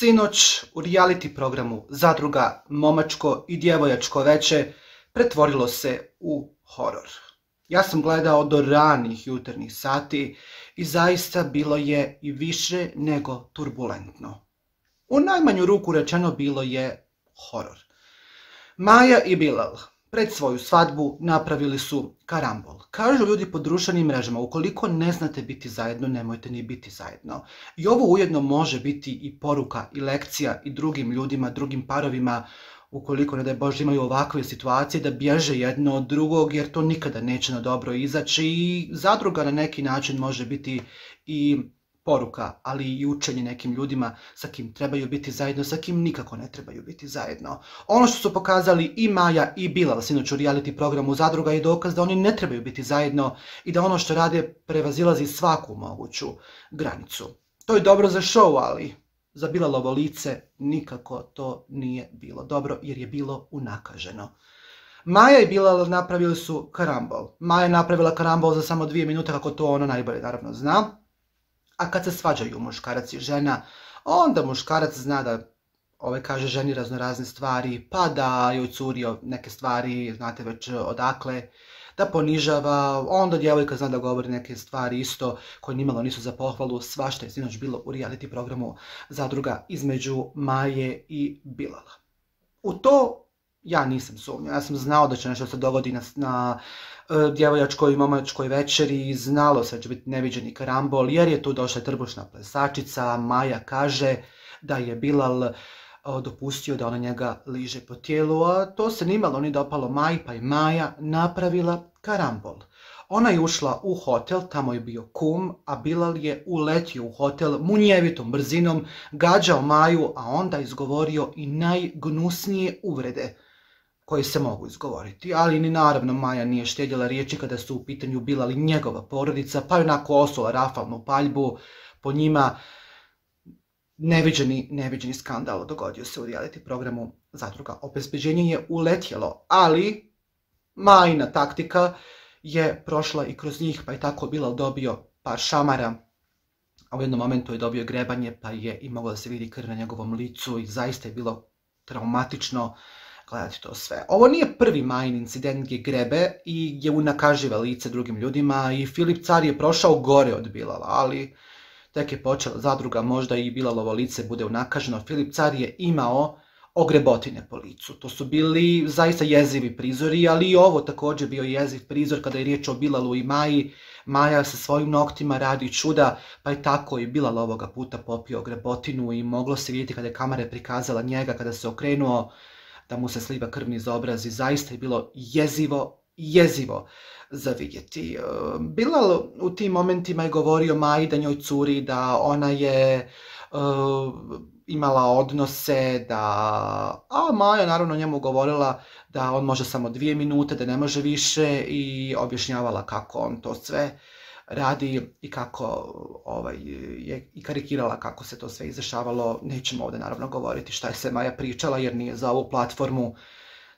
Sinoć u reality programu Zadruga momačko i djevojačko veče pretvorilo se u horor. Ja sam gledao do ranih jutarnjih sati i zaista bilo je i više nego turbulentno. U najmanju ruku rečeno bilo je horor. Maja i Bilal pred svoju svadbu napravili su karambol. Kažu ljudi po društvenim mrežama, ukoliko ne znate biti zajedno, nemojte ni biti zajedno. I ovo ujedno može biti i poruka i lekcija i drugim ljudima, drugim parovima, ukoliko, ne daj Bože, imaju ovakve situacije, da bježe jedno od drugog, jer to nikada neće na dobro izaći. I zadruga na neki način može biti i poruka, ali i učenje nekim ljudima sa kim trebaju biti zajedno, sa kim nikako ne trebaju biti zajedno. Ono što su pokazali i Maja i Bilal sinoć u reality programu Zadruga je dokaz da oni ne trebaju biti zajedno i da ono što rade prevazilazi svaku moguću granicu. To je dobro za show, ali za Bilalovo lice nikako to nije bilo dobro jer je bilo unakaženo. Maja i Bilal napravili su karambol. Maja je napravila karambol za samo 2 minute, kako to ona najbolje naravno zna. A kad se svađaju muškarac i žena, onda muškarac zna da kaže ženi raznorazne stvari, pa da joj curi neke stvari, znate već odakle, da ponižava, onda djevojka zna da govori neke stvari isto koje nimalo nisu za pohvalu. Svašta je sinoć bilo u reality programu Zadruga između Maje i Bilala. U to ja nisam sumnjao, ja sam znao da će nešto se dogodi na djevojačkoj i momačkoj večeri, znalo se da će biti neviđeni karambol, jer je tu došla trbušna plesačica. Maja kaže da je Bilal dopustio da ona njega liže po tijelu, a to se nimalo ni dopalo Maji, pa je Maja napravila karambol. Ona je ušla u hotel, tamo je bio kum, a Bilal je uletio u hotel munjevitom brzinom, gađao Maju, a onda izgovorio i najgnusnije uvrede koje se mogu izgovoriti. Ali ni naravno Maja nije štedjela riječi kada su u pitanju Bilal i njegova porodica, pa je onako osula rafalnu paljbu po njima. Neviđeni skandal dogodio se u reality programu Zadruga. Obezbeđenje je uletjelo, ali Majina taktika je prošla i kroz njih, pa je tako Bilal dobio par šamara, a u jednom momentu je dobio grebanje, pa je i moglo da se vidi krv na njegovom licu i zaista je bilo traumatično gledati to sve. Ovo nije prvi Majin incident gdje grebe i gdje unakaživa lice drugim ljudima, i Filip Car je prošao gore od Bilala, ali tek je počela Zadruga, možda i Bilalovo lice bude unakaženo. Filip Car je imao ogrebotine po licu. To su bili zaista jezivi prizori, ali i ovo također bio jeziv prizor kada je riječ o Bilalu i Maji. Maja sa svojim noktima radi čuda, pa je tako i Bilal ovoga puta popio ogrebotinu i moglo se vidjeti kada je kamera prikazala njega, kada se okrenuo, da mu se sliva krv niz obraz i zaista je bilo jezivo za vidjeti. Bilal u tim momentima je govorio Maji da njoj curi, da ona je imala odnose, a Maja naravno njemu govorila da on može samo 2 minute, da ne može više, i objašnjavala kako on to sve radi i kako je i karikirala kako se to sve izdešavalo. Nećemo ovdje naravno govoriti šta je sve Maja pričala jer nije za ovu platformu.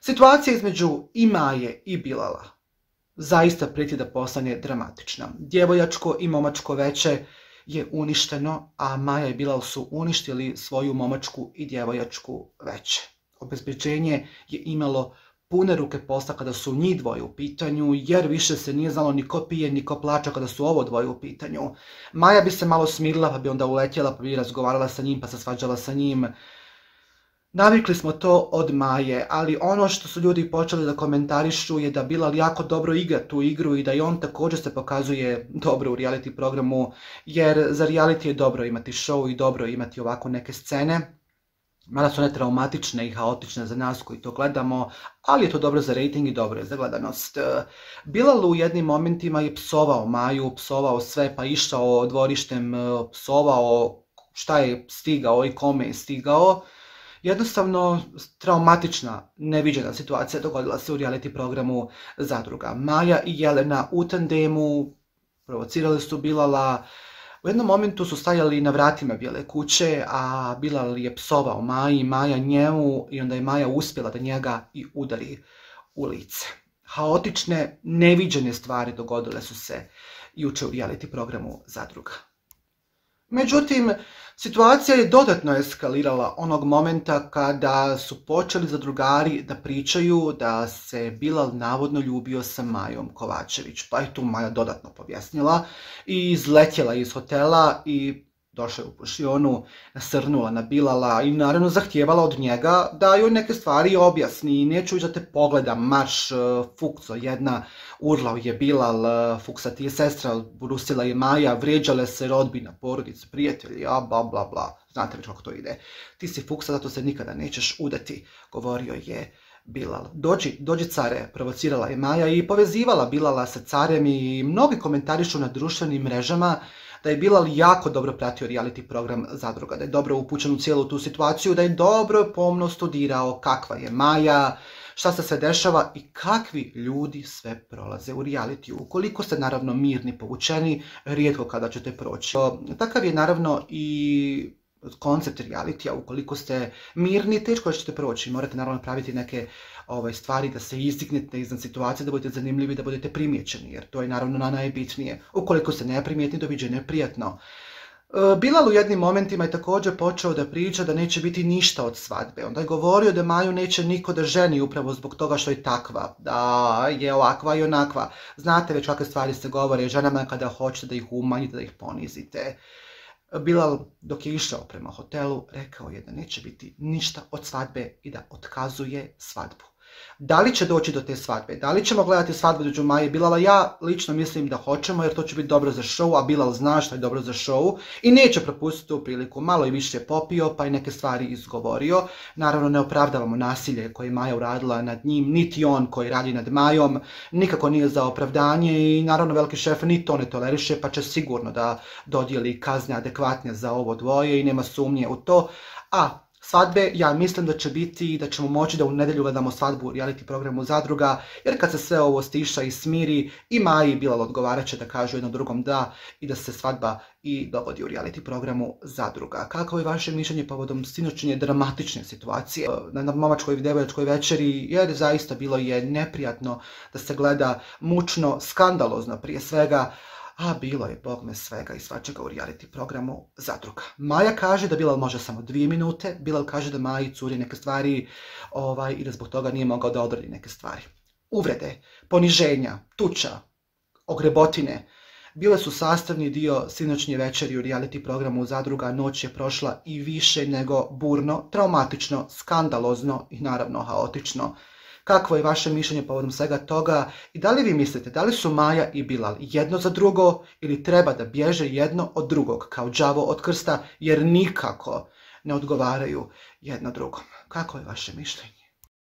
Situacija između i Maje i Bilala zaista prijeti da postane dramatična. Djevojačko i momačko veče je uništeno, a Maja i Bilal su uništili svoju momačku i djevojačku veče. Obezbeđenje je imalo pune ruke posla kada su njih dvoje u pitanju, jer više se nije znalo ni ko pije ni ko plaća kada su ovo dvoje u pitanju. Maja bi se malo smirila, pa bi onda uletjela, pa bi razgovarala sa njim, pa se svađala sa njim. Navikli smo to od Maje, ali ono što su ljudi počeli da komentarišu je da Bilal jako dobro igra tu igru i da i on također se pokazuje dobro u reality programu, jer za reality je dobro imati show i dobro imati ovako neke scene. Mada su one traumatične i haotične za nas koji to gledamo, ali je to dobro za rating i dobro je za gledanost. Bilal u jednim momentima je psovao Maju, psovao sve, pa išao dvorištem, psovao šta je stigao i kome je stigao. Jednostavno traumatična, neviđena situacija dogodila se u reality programu Zadruga. Maja i Jelena u tandemu provocirali su Bilala. U jednom momentu su stajali na vratima Bijele kuće, a Bilal je psovao Maji, Maja njemu, i onda je Maja uspjela da njega i udari u lice. Haotične, neviđene stvari dogodile su se jučer u reality programu Zadruga. Međutim, situacija je dodatno eskalirala onog momenta kada su počeli zadrugari da pričaju da se Bilal navodno ljubio sa Majom Kovačević. Pa je tu Maja dodatno povjesnila i izletjela iz hotela i došla u pušionu, nasrnula na Bilala i naravno zahtijevala od njega da joj neke stvari objasni. Neću da te pogleda, marš, fukco jedna, urlao je Bilal, fuksa ti je sestra, brusila je Maja, vrijeđale se rodbina, porodica, prijatelji, a bla bla bla. Znate već kako to ide. Ti si fuksa, zato se nikada nećeš udati, govorio je Bilal. Dođi care, provocirala je Maja i povezivala Bilala sa carem i mnogi komentarišu na društvenim mrežama da je Bilal jako dobro pratio reality program Zadruga, da je dobro upućen u cijelu tu situaciju, da je dobro pomno studirao kakva je Maja, šta se sve dešava i kakvi ljudi sve prolaze u realitiju. Ukoliko ste naravno mirni, povučeni, rijetko kada ćete proći. Takav je naravno i koncept realitija. Ukoliko ste mirni, teško ćete proći. Morate naravno praviti neke stvari da se izdignete iznad situacije, da budete zanimljivi, da budete primijećeni, jer to je naravno najbitnije. Ukoliko ste neprimjetni, doviđenje je prijatno. Bilal u jednim momentima je također počeo da priča da neće biti ništa od svadbe. Onda je govorio da Maju neće niko da ženi upravo zbog toga što je takva, da je ovakva i onakva. Znate već kakve stvari se govore ženama kada hoćete da ih umanjite, da ih ponizite. Bilal, dok je išao prema hotelu, rekao je da neće biti ništa od svadbe i da otkazuje svadbu. Da li će doći do te svadbe? Da li ćemo gledati svadbu između Maje i Bilala? Ja lično mislim da hoćemo, jer to će biti dobro za show, a Bilal zna što je dobro za show i neće propustiti tu priliku. Malo i više popio, pa i neke stvari izgovorio. Naravno, ne opravdavamo nasilje koje je Maja uradila nad njim, niti on koji radi nad Majom. Nikako nije za opravdanje i naravno veliki šef ni to ne toleriše, pa će sigurno da dodijeli kazne adekvatne za ovo dvoje i nema sumnje u to. A svadbe, ja mislim da će biti, da ćemo moći da u nedjelju gledamo svadbu u reality programu Zadruga, jer kad se sve ovo stiša i smiri, i Maji i Bilal odgovarat će da kažu jedno drugom da i da se svadba i dogodi u reality programu Zadruga. Kako je vaše mišljenje povodom sinoćnje dramatične situacije na momačkoj i devojčkoj večeri, jer zaista bilo je neprijatno da se gleda, mučno, skandalozno prije svega, a bilo je bogme svega i svačega u reality programu Zadruga. Maja kaže da Bilal može samo 2 minute, Bilal kaže da Maji curi neke stvari i da zbog toga nije mogao da odradi neke stvari. Uvrede, poniženja, tuča, ogrebotine bile su sastavni dio sinoćnje večeri u reality programu Zadruga. Noć je prošla i više nego burno, traumatično, skandalozno i naravno haotično. Kakvo je vaše mišljenje povodom svega toga i da li vi mislite da li su Maja i Bilal jedno za drugo ili treba da bježe jedno od drugog kao đavo od krsta jer nikako ne odgovaraju jedno drugom? Kako je vaše mišljenje?